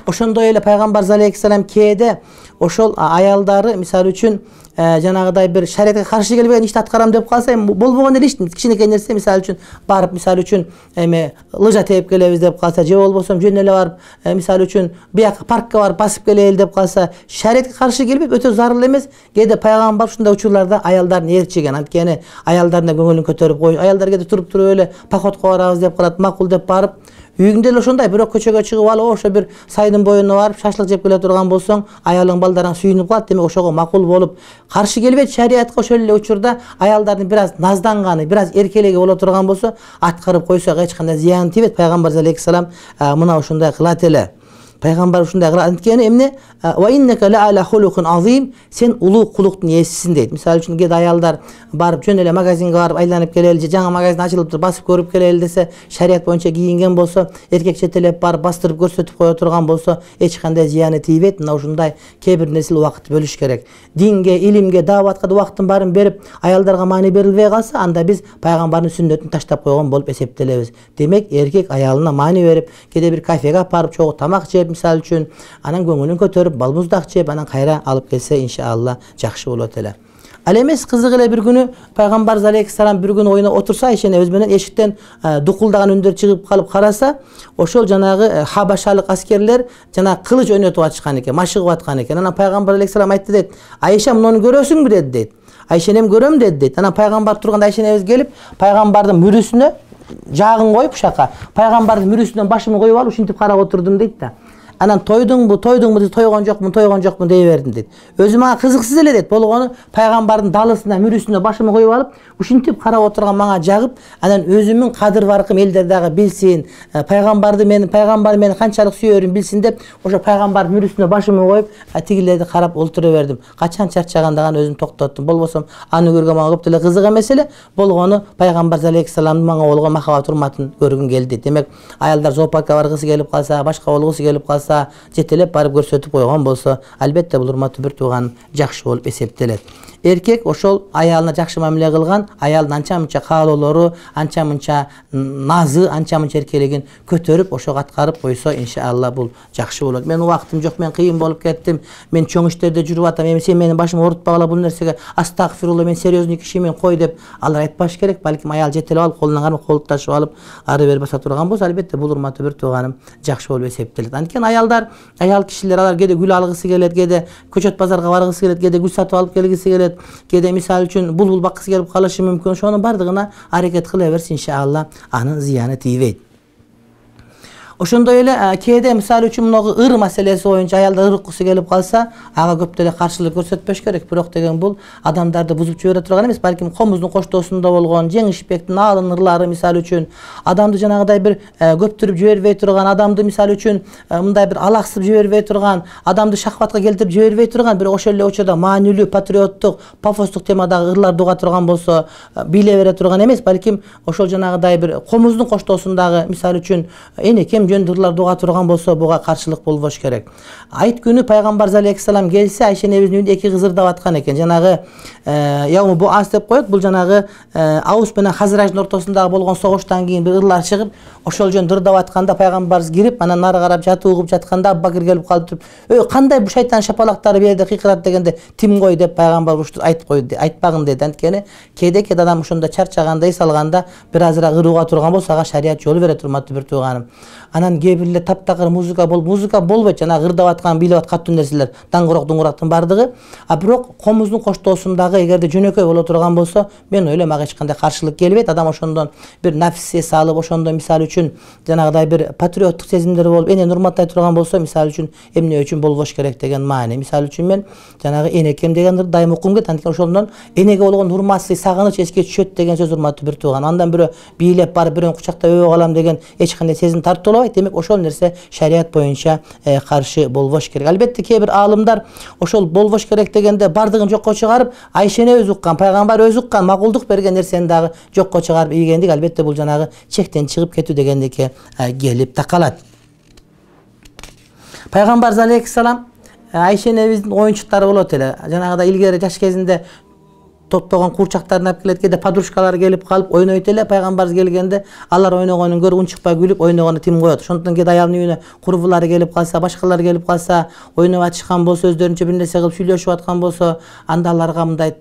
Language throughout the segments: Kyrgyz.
Ошондой эле пайгамбарыбыз алейхиссалам кээде ошол аялдары мисалы үчүн жанагыдай бир шариатка каршы келбеген ишти аткарам деп калса, болбогон эле иш кичинекей нерсе мисалы үчүн барып мисалы үчүн лыжа тееп келебиз деп калса, же болбосо жөн эле барып мисалы үчүн бияка паркка барып басып келели деп калса, шариатка каршы келбейт, өтө зарыл эмес. Кээде пайгамбар ушундай учурларда аялдарын ээрчиген. Анткени аялдарына көңүлүн көтөрүп коюш, аялдар кээде туруп эле походко барабыз деп калат, макул деп барып үйүңдө эле ошондой бирок көчөгө чыгып алып ошо бир сайдын боюна барып шашлык жеп келе турган болсоң, аялың балдарың сүйүнүп калат. Демек ошого макул болуп каршы келбейт шариатка. Ошол эле учурда аялдардын бир аз назданганы, бир аз эркелеги боло турган болсо, аткарып койсок эч кандай зыян тийбейт. Пайгамбарыбыз алейхиссалам мына ушундай кылат эле. Пайгамбар ушундай кылат. Анткени эмне? Ва иннека ла ала хулукун азим, сен улуу кулуктун ээсисиң дейт. Мисалы үчүн кээде аялдар барып жөн эле магазинге барып айланып келели, же жаңы магазин ачылыптыр басып көрүп келели десе, шарият боюнча кийинген болсо, эркек четелеп барып бастырып көрсөтүп кое турган болсо, эч кандай зыяны тийбейт. Мына ушундай кээ бир нерселе убакыт бөлүш керек. Динге, илимге, дааватка да убакыттын баарын берип, аялдарга маани берилбей калса, анда биз пайгамбардын сүннөтүн таштап койгон болуп эсептелебиз. Демек, эркек аялына маани берип, кээде бир кафеге апарып чогуу тамак жеп, мисалы үчүн анан көңүлүн көтөрүп, балмуздак жеп, анан кайра алып келсе, иншалла жакшы болот эле. Ал эмес, кызык эле бир күнү пайгамбарыбыз алейхиссалам бир күнү оюна отурса, Айша энебиз менен эшиктен дукулдаган үндөр чыгып калып караса, ошол жанагы хабашалык аскерлер жанагы кылыч ойнотуп атышкан экен, машыгып аткан экен. Анан пайгамбар алейхиссалам айтты дейт: "Айша, муну көрөсүңбү?" дейт. Айша энем көрөм дейт. Анан пайгамбар турганда Айша энебиз келип, пайгамбардын мүрүсүнө жаагын коюп ушака, пайгамбардын мүрүсүнөн башымды коюп алып ушинтип карап отурдум дейт да. Анан тойдуңбу, тойгон жокмун дей бердим дейт. Өзү мага кызыксыз эле дейт. Болгону пайгамбардын далысына, мүрүсүнө башымды коюп алып, ушинтип карап отурган мага жагып, анан өзүмдүн кадыр баркым элдер дагы билсин, пайгамбарым мени канчалык сүйөрүн билсин деп, ошо пайгамбар мүрүсүнө башымды коюп, тигилерди карап олтура бердим. Качан чарчагандаган өзүм токтоттум. Болбосом аны көргөн мага көп деле кызык эмес эле. Болгону пайгамбар алейхиссаламдын мага болгон махабат урматын көргүм келди. Демек, аялдар зоопаркка баргысы келип калса, башка болгусу келип калса, жетелеп барып көрсөтүп койгон болсо, албетте бул урматтуу бир тууган жакшы болуп эсептелет. Эркек ошол аялына жакшы мамиле кылган, аялдын анча-мынча каалоолору, анча-мынча назы, анча-мынча эркелигин көтөрүп, ошого аткарып койсо, иншалла бул жакшы болот. Мен убактым жок, мен кыйын болуп кеттим, мен чоң иштерде жүрүп атам, сен менин башымды оорутпагыла бул нерсеге, астагфирулла, мен серьезный кишимин, кой деп алар айтпаш керек. Балким аял жетелеп алып, колунан кармап, колтушуп алып, ары бери баса турган болсо, албетте бул урматтуу бир тууганым жакшы болуп эсептелет. Анткени аял кишилер алар кээде гүл алгысы келет, кээде көчөт базарга баргысы келет, кээде гүл сатып алып келгиси келет, кээде мисалы үчүн булбул баккысы келип калышы мүмкүн. Ошонун бардыгына аракет кыла берсин, иншалла анын зыяны тийбейт. Ошондой эле кээде мисалы үчүн мынагы ыр маселеси боюнча аялдар ыр уккусу келип калса, ага көп деле каршылык көрсөтпөш керек. Бирок деген бул адамдарды бузуп жибере турган эмес, балким комуздун коштоосунда болгон, жеңишпектин аалын ырлары мисалы үчүн адамды жанагыдай бир көптүрүп жибербей турган, адамды мисалы үчүн мындай бир алаксып жибербей турган, адамды шахватка келтирип жибербей турган, бирок ошол эле учурда маанилүү, патриоттук, пафостук темадагы ырларды уга турган болсо, биле бере турган эмес, балким ошол жанагыдай бир комуздун коштоосундагы мисалы үчүн энекем жөндөрлөр дуга турган болсо, буга каршылык болбош керек. Айт күнү пайгамбар алейхиссалам келсе, Айша энебиздин үйүндө эки кыз ырдап аткан экен. Жанагы яуму бу ас деп коет. Бул жанагы Аус менен Хазраждын ортосундагы болгон согуштан кийин бир ырлар чыгып, ошол жөн ырдап атканда пайгамбарыбыз кирип, анан нары карап жатып угуп жатканда Абубакир келип калып туруп, "Ой, кандай бу шайтан шапалактары бу жерде кыйкырат" дегенде, "Тим кой" деп пайгамбар ушту айтып койду, айтпагын деди. Анткени кээде адам ошондо чарчаганда, эс алганда бир азыраак ырууга турган болсо, ага шарият жол берет, урматтуу бир тууганым. Анан кээ бирлер таптакыр музыка болбойт, жана ырдап аткан, бийлеп аткан каттуу нерселер, даңгырок дуңгурактын бардыгы. Бирок комуздун коштоосундагы эгерде жөнөкөй боло турган болсо, мен ойлойм ага эч кандай каршылык келбейт. Адам ошондон бир нафс эс алып, ошондон мисалы үчүн жанагыдай бир патриоттук сезимдер болуп, энени урматтай турган болсо, мисалы үчүн эмне үчүн болбош керек деген маани. Мисалы үчүн мен жанагы энекем деген ырды дайым уккум келет. Анткени ошондон энеге болгон урматсыз сагыныч эске түшөт деген сөз, урматтуу бир тууган. Андан бирөө бийлеп барып бирөөнү кучактап өбөп алам деген эч кандай сезим тартуулабайт. Демек ошол нерсе шарият боюнча каршы болбош керек. Албетте кээ бир аалымдар ошол болбош керек дегенде бардыгын жокко чыгарып, Айша эне өзү уккан, пайгамбар өзү уккан, макулдук берген нерсени дагы жокко чыгарып ийгендик, албетте бул жанагы чектен чыгып кетүү дегендикке келип такалат. Пайгамбар алейхиссалам Айша энебиздин оюнчуктары болот эле. Жанагыда илгери жаш кезинде топтогон курчактарын алып келет, кээде подружкалары келип калып ойнойт эле. Пайгамбар келгенде алар ойногонун көрүп унчукпай күлүп ойногону тим коет. Ошондон кээде аялдын үйүнө курбулары келип калса, башкалар келип калса, ойноп атышкан болсо, өздөрүнчө бир нерсе кылып сүйлөшүп аткан болсо, анда аларга мындай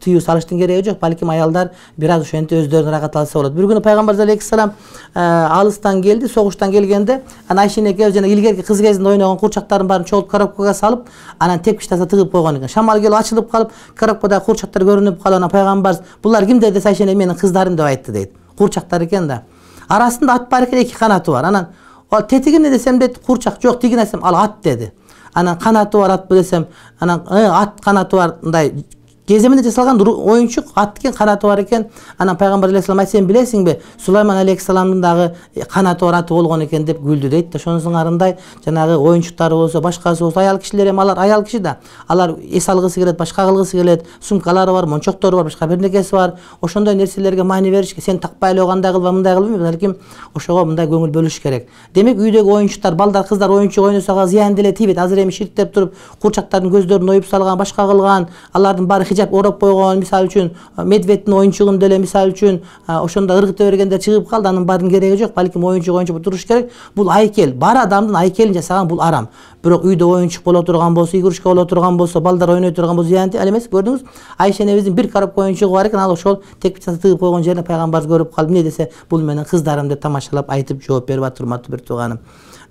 тыюу салыштын кереги жок. Балким аялдар бир аз ошентип өздөрүн ырахат алса болот. Бир күнү Пайгамбар алейхиссалам алыстан келди, согуштан келгенде, анан Айша энекебиз жана илгерки кыз кезинде ойногон курчактарын баарын чогултуп коробкага салып, анан тепкич таса тыгып койгон экен. Шамал келип ачылып калып, коробкадагы курчактар көрүнүп калып, Пайгамбар булар кимдер десе Айша эне менин кыздарым деп айтты дейт. Курчактар экен да. Арасында ат бар экен, 2 канаты бар. Анан ал тети кимде десем дейт, курчак жок, тигин десем ал ат деди. Анан канаты бар ат десем, анан ат канаты бар, мындай кеземинде жасалган оюнчук ат экен, канаты бар экен. Анан Пайгамбар алейхиссалам айтса, сен билесиңби, Сулайман алейхиссаламдын дагы канаты бар аты болгон экен деп күлдү дейт. Ошонусун арындай жанагы оюнчуктары болсо, башкасы болсо, аял кишилер эми алар аял киши да. Алар эс алгысы келет, башка кылгысы келет, сумкалары бар, мончоктору бар, башка бир нерсеси бар. Ошондой нерселерге маани бериш, сен такпай эле кандай кылба, мындай кылбайм, балким ошого мындай көңүл бөлүш керек. Демек үйдөгү оюнчуктар, балдар, кыздар оюнчук ойносого зыян деле тийбейт. Азыр эми ширктеп туруп, курчактардын көздөрүн оюп салган, башка кылган, алардын баары хижап ороп койгон, мисалы үчүн медведтин оюнчугун деле мисалы үчүн ошондо ыргыта бергенде чыгып калды, анын баардын кереги жок. Балким оюнчук туруш керек. Бул айкел, бар адамдын айкелин жасаган бул арам. Бирок үйдө оюнчук боло турган болсо, игрушка боло турган болсо, балдар ойной турган болсо зыян ал эмес. Көрдүңүз, Айша энебиздин бир коробка оюнчугу бар экен, ал ошол тепкичасын тыгып койгон жерине Пайгамбар көрүп калып, эмне десе, бул менин кыздарым деп тамашалап айтып жооп берип атыр, урматтуу бир тууганым.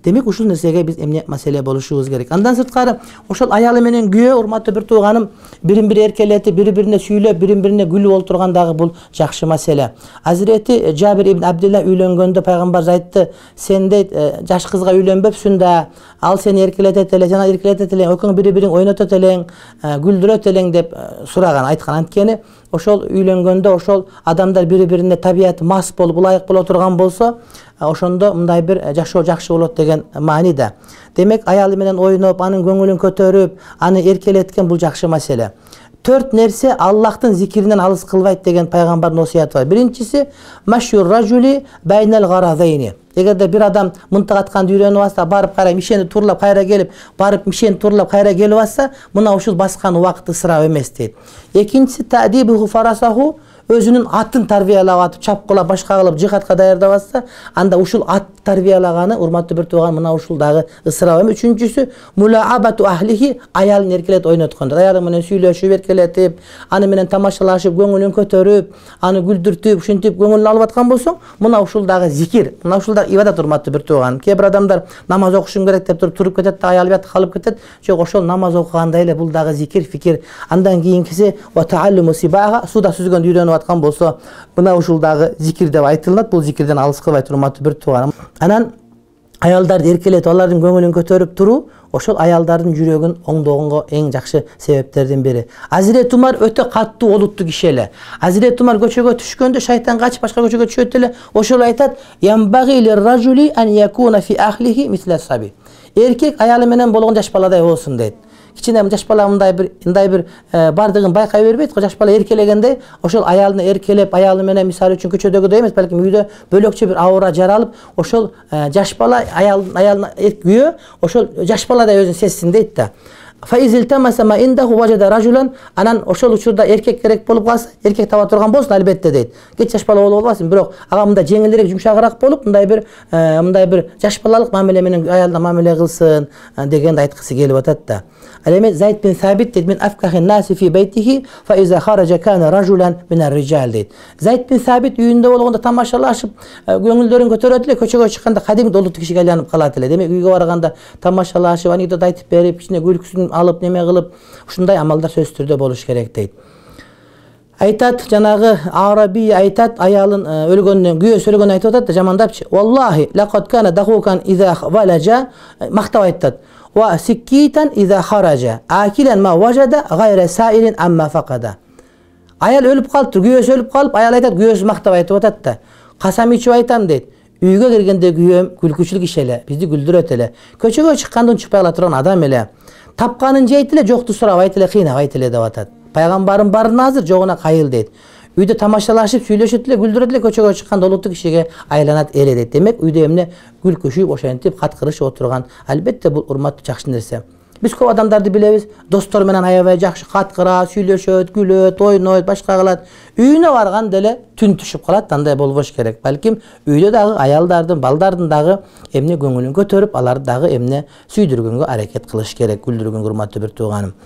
Демек ушул нерсеге биз эмне маселе болушубуз керек. Андан сырткары ошол аялы менен күйөө, урматтуу бир тууганым, бирин бири эркелетип, бири-бирине сүйлөп, бирин-бирине күлүп олтурган дагы бул жакшы маселе. Азирети Жабир ибн Абдилла үйлөнгөндө Пайгамбар айтты, сен дейт жаш кызга үйлөнбөпсүң да, ал сени эркелетет эле, жана эркелетет эле, экөөң бири-бириң ойнотот элең, күлдүрөт элең деп сураган, айткан. Анткени ошол үйлөнгөндө ошол адамдар бири-бирине табияты мас болуп, ылайык боло турган болсо, ошондо мындай бир жашоо жакшы болот деген мааниде. Демек аялы менен ойноп, анын көңүлүн көтөрүп, аны эркелеткен бул жакшы маселе. 4 нерсе Аллахтын зикиринен алыс кылбайт деген Пайгамбардын осуяты бар. Биринчиси машюр ражули байнал гаразайни. Эгерде бир адам мынтык атканды үйрөнүп алса, барып кайра мишени турлап кайра келип, барып мишени турлап кайра келип алса, мына ушул баскан убакыт ысырап эмес дейт. Экинчиси таъдибу фарасаху, өзүнүн атын тарбиялап атып, чапкылап, башка кылып жихадка даярдап атса, анда ушул ат тарбиялаганы, урматтуу бир тууган, мына ушул дагы ысырап эмес. Үчүнчүсү мулаабату ахлихи, аялын эркелет ойноткондор. Аялы менен сүйлөшүп, эркелетип, аны менен тамашалашып, көңүлүн көтөрүп, аны күлдүртүп, ушинтип көңүлүн алып аткан болсоң, мына ушул дагы зикир, мына ушул дагы ибадат, урматтуу бир тууган. Кээ бир адамдар намаз окушум керек деп туруп кетет да, аялы бияты калып кетет. Жок, ошол намаз окугандай эле бул дагы зикир, фикир. Андан кийинкиси ва тааллуму сибага, суда сүзгөндү үйрөнүп аткан болсо, мына ушул дагы зикир деп айтылат. Бул зикирден алыс кылбайт, урматтуу бир тууган. Анан аялдарды эркелетип, алардын көңүлүн көтөрүп туруу, ошол аялдардын жүрөгүн оңдогонго эң жакшы себептердин бири. Азирет Умар өтө каттуу олуттуу киши эле. Азирет Умар көчөгө түшкөндө шайтан качып башка көчөгө түшөт эле. Ошол айтат: "Ямбаги лир-ражули ан якуна фи ахлихи мисла саби." Эркек аялы менен болгон жаш баладай болсун дейт. Кичине жаш бала мындай бир бардыгын байкай бербейт го. Жаш бала эркелегенде ошол аялын эркелеп, аялы менен мисалы үчүн көчөдөгүдөй эмес, балким үйдө бөлөкчө бир аура жаралып, ошол жаш бала аялын күйөө ошол жаш баладай өзүн сезсин дейт да. Анан ошол учурда эркек керек болуп калса, эркек таба турган болсун албетте дейт. Кеч жаш бала болуп албасын, бирок ага мындай жеңилирээк, жумшагыраак болуп, мындай бир жаш балалык мамиле менен аялына мамиле кылсын дегенди айткысы келип атат да. Ал эми Зайд бин Сабит дейт: "Мен афкахин наси фи бейтихи фа иза хаража кана ражулан мин ар-rijal" дейт. Зайд бин Сабит үйүндө болгондо тамашалашып, көңүлдөрүн көтөрөт эле, көчөгө чыкканда кадимки олуттуу кишиге айланып калат эле. Демек үйгө барганда тамашалашып, анекдот айтып берип, кичине күлкүсүн алып, неме кылып, ушундай амалдар сөзсүз түрдө болуш керек дейт. Айтат, жанагы Араби айтат, аялын өлгөндөн, күйөөсү өлгөндөн айтып атат да, жамандапчы: "Валлахи лакад кана дахукан иза валажа", мактап айтат. "Ва сиккитан иза хаража, акилан ма важада гайра саилин амма факада". Аял өлүп калыптыр, күйөөсү өлүп калып, аял айтат, күйөөсү мактап айтып атат да: "Касам ичип айтам" дейт. "Үйгө киргенде күйөөм күлкүчүл киши эле, бизди күлдүрөт эле. Көчөгө чыкканда унчукпай ала турган адам эле. Тапканын жейт эле, жокту сурабайт эле, кыйнабайт эле" деп атат. Пайгамбарым баарына азыр, жогуна кайыл дейт. үйдө тамашалашып сүйлөшөт эле, күлдүрөт эле, көчөгө чыкканда улуттуу кишиге айланат эл дейт. Демек үйдө эмне күлкүшүп ошентип кат кырышып отурган, албетте бул урматтуу жакшы нерсе. Биз көп адамдарды билебиз, достор менен аябай жакшы кат кыра, сүйлөшөт, күлөт, ойнойт, башка кылат. Үйүнө барганда эле түн түшүп калат, андай болбош керек. Балким үйдө дагы аялдардын, балдардын дагы эмне көңүлүн көтөрүп, аларды дагы эмне сүйдүргөнгө аракет кылыш керек, күлдүргөнгө, урматтуу бир тууганым.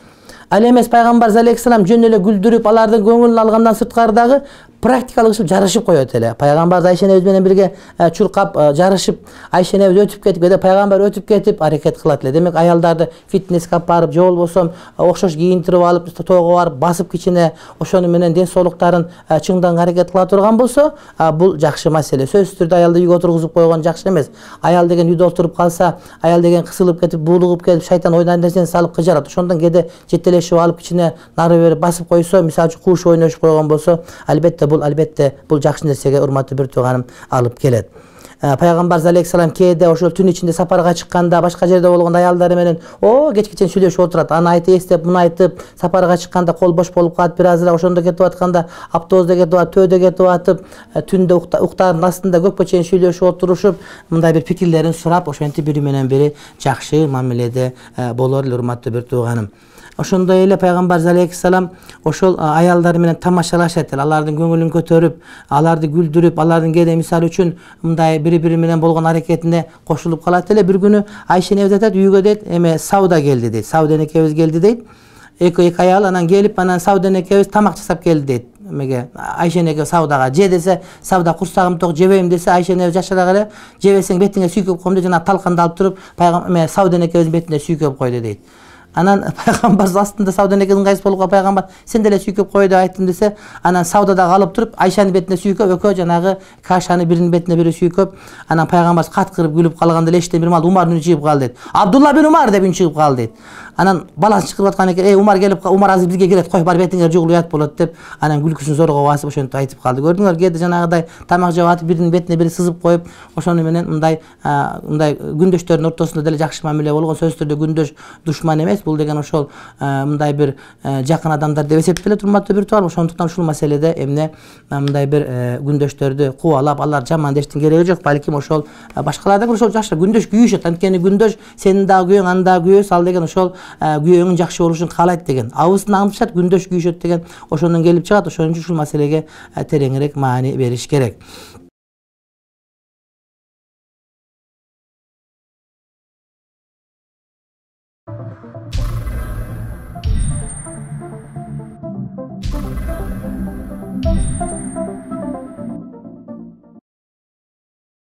Ал эмес пайгамбарыбыз алейхиссалам жөн эле күлдүрүп, алардын көңүлүн алгандан сырткары дагы практикалык ишип жарышып коет эле. Пайгамбарыбыз Айша энебиз менен бирге чуркап жарышып, Айша энебиз өтүп кетип, кээде пайгамбар өтүп кетип аракет кылат эле. Демек аялдарды фитнеске алып барып, же болбосо окшош кийинтирип алып, тоого барып басып кичине ошону менен ден соолуктарын чыңданга аракет кыла турган болсо, бул жакшы маселе. Сөзсүз түрдө аялды үйгө отургузуп койгон жакшы эмес. Аял деген үйдө отуруп калса, аял деген кысылып кетип, буулугуп кетип, шайтан ойдан нерсени салып кыжырат. Ошондон кээде жетелешип алып кичине нары бери басып койсо, мисалы үчүн кууш ойношуп койгон болсо, албетте бул жакшы нерсеге, урматтуу бир тууганым, алып келет. Пайгамбарыбыз алейхиссалам кээде ошол түн ичинде сапарга чыкканда, башка жерде болгондо аялдары менен кечкечен сүйлөшүп отурат. Аны айтып эстеп, муну айтып, сапарга чыкканда кол бош болуп калат, бир азыраак ошондо кетип атканда, автобуста кетип атып, төөдө кетип атып, түндө уктардын астында көпкө чейин сүйлөшүп отурушуп, мындай бир пикирлерин сурап, ошентип бири менен бири жакшы мамиледе болор эле, урматтуу бир тууганым. Ошондой эле пайгамбарыбыз алейхиссалам ошол аялдары менен тамашалашат эле, алардын көңүлүн көтөрүп, аларды күлдүрүп, алардын кээде мисалы үчүн мындай бири менен болгон аракетине кошулуп калат эле. Бир күнү Айша энебиз айтат, үйгө дейт, Сауда келди дейт. Сауда энекебиз келди дейт. Эки аял анан келип, анан Сауда энекебиз тамак жасап келди дейт. Айша энеке Саудага же десе, Сауда курсагым ток, жебейм десе, Айша энебиз жашырак эле, жебесең бетиңе сүйкөп коем деп жана талканды алып туруп, Сауда энекебиздин бетине сүйкөп койду дейт. Анан пайгамбар астында Сауда энекенин кайсы болуп калып, пайгамбар сен деле сүйкөп кой деп айттым десе, анан Саудада калып туруп Айшанын бетине сүйкөп, экөө жанагы кашаны биринин бетине бири сүйкөп, анан пайгамбар каткырып күлүп калганда эле эчтен бир маал Умардын үнү чыгып калды дейт. Абдулла бин Умар деп үн чыгып калды дейт. Анан баласы чыгып аткан экен, Умар келип, Умар азыр бизге келет, кой бар бетиңер жугулуп уят болот деп, анан күлкүсүн зорго басып ошентип айтып калды. Көрдүңөр, кээде жанагыдай тамак жеп атып биринин бетине бири сызып коюп, ошону менен мындай күндөштөрдүн ортосунда деле жакшы мамиле болгон. Сөзсүз түрдө күндөш душман эмес, бул деген ошол мындай бир жакын адамдар деп эсептелет, урматтуу бир тууган. Ошондуктан ушул маселеде эмне мындай бир күндөштөрдү кубалап, алар жаман дештин кереги жок. Балким ошол башкалар дагы ошол жакшы күндөш күйүшөт. Анткени күндөш сенин дагы күйөөң, анын дагы күйөөсү, ал деген ошол күйөөңүн жакшы болушун каалайт деген. Абысын аңдышат, күндөш күйүшөт деген ошондон келип чыгат. Ошон үчүн ушул маселеге тереңирээк маани бериш керек.